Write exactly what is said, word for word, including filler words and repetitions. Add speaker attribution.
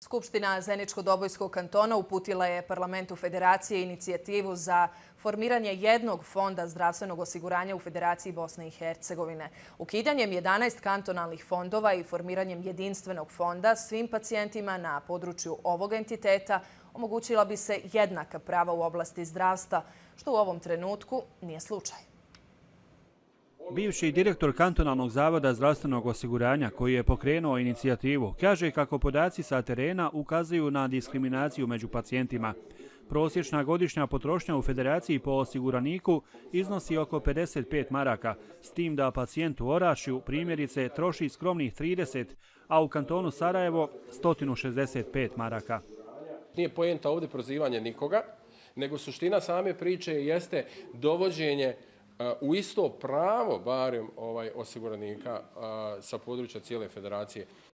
Speaker 1: Skupština Zeničko-Dobojskog kantona uputila je Parlamentu Federacije inicijativu za formiranje jednog fonda zdravstvenog osiguranja u Federaciji Bosne i Hercegovine. Ukidanjem jedanaest kantonalnih fondova i formiranjem jedinstvenog fonda svim pacijentima na području ovog entiteta omogućila bi se jednaka prava u oblasti zdravstva, što u ovom trenutku nije slučaj.
Speaker 2: Bivši direktor kantonalnog zavoda zdravstvenog osiguranja koji je pokrenuo inicijativu kaže kako podaci sa terena ukazuju na diskriminaciju među pacijentima. Prosječna godišnja potrošnja u Federaciji po osiguraniku iznosi oko pedeset pet maraka, s tim da pacijent u Orašju primjerice troši skromnih trideset, a u kantonu Sarajevo sto šezdeset pet maraka.
Speaker 3: Nije poenta ovdje prozivanje nikoga, nego suština same priče jeste dovođenje u isto pravo barem ovaj osiguranika sa područja cijele federacije.